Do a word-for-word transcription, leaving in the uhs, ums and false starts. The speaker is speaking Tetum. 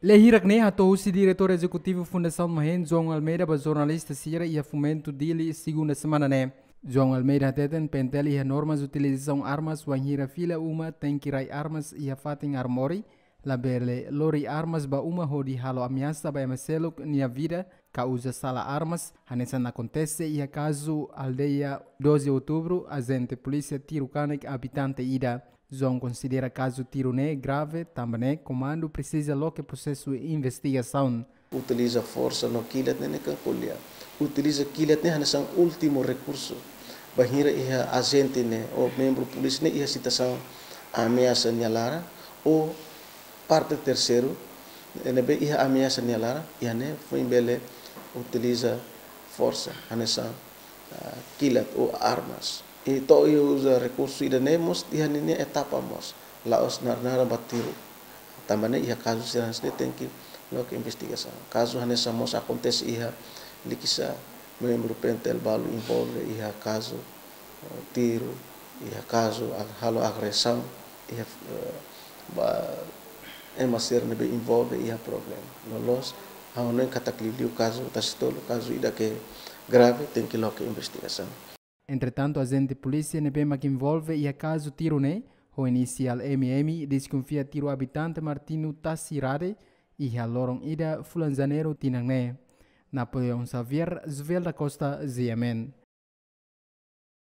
Lee hirak ne'e hato'o husi Diretór Ezekutivu Fundasaun MAHEN, João Almeida, ba jornalista sira iha Fomento, Dili, segunda semana ne'e. João Almeida hateten PNTL iha normas utilizasaun armas, wainhira fila uma tenke rai armas iha fatin armori, labele lori armas ba uma hodi halo ameasa ba ema seluk nia vida, ka uza sala armas, hanesan akontese iha kazu aldeia doze Outubru, ajente polísia tiru kanek abitante ida. João konsidera kazu tiru ne'e grave, tanba ne'e komandu presiza loke prosesu investigasaun. Utiliza forsa no kilat ne'e, ne'e kan ko'alia. Utiliza kilat ne'e hanesan últimu rekursu. Bainhira iha ajente ne'e, ou membru polísia ne'e iha situasaun ameasa nia laran, ou parte terseiru ne'ebé iha ameasa nia laran, iha ne'e foin bele utiliza forsa, hanesan, ah, kilat ou armas. I to'o iha uza rekursu ida-ne'e mós iha ninia etapa mós. La'ós naran-naran ba tiru. Tanba ne'e iha kazu sira hanesan ne'e tenke loke investigasaun. Kazu hanesan mós akontese iha Likisá, membru PNTL balu envolve iha kazu, eh, tiru, iha kazu ag-, halo agresaun, iha, eh, ba ema sira ne'ebé envolve iha problema. Loloos, ha'u hanoin katak liuliu kazu Tasitolu, kazu ida ke grave, tenke loke investigasaun. Entretantu, ajente polísia ne'ebé mak envolve iha kazu tiru ne'e, ho inisiál M M, deskonfia tiru abitante Martino Tasi Rade, iha loron ida fulan Janeiru tinan ne'e. Napoleão Xavier, Jovel da Costa, G M N.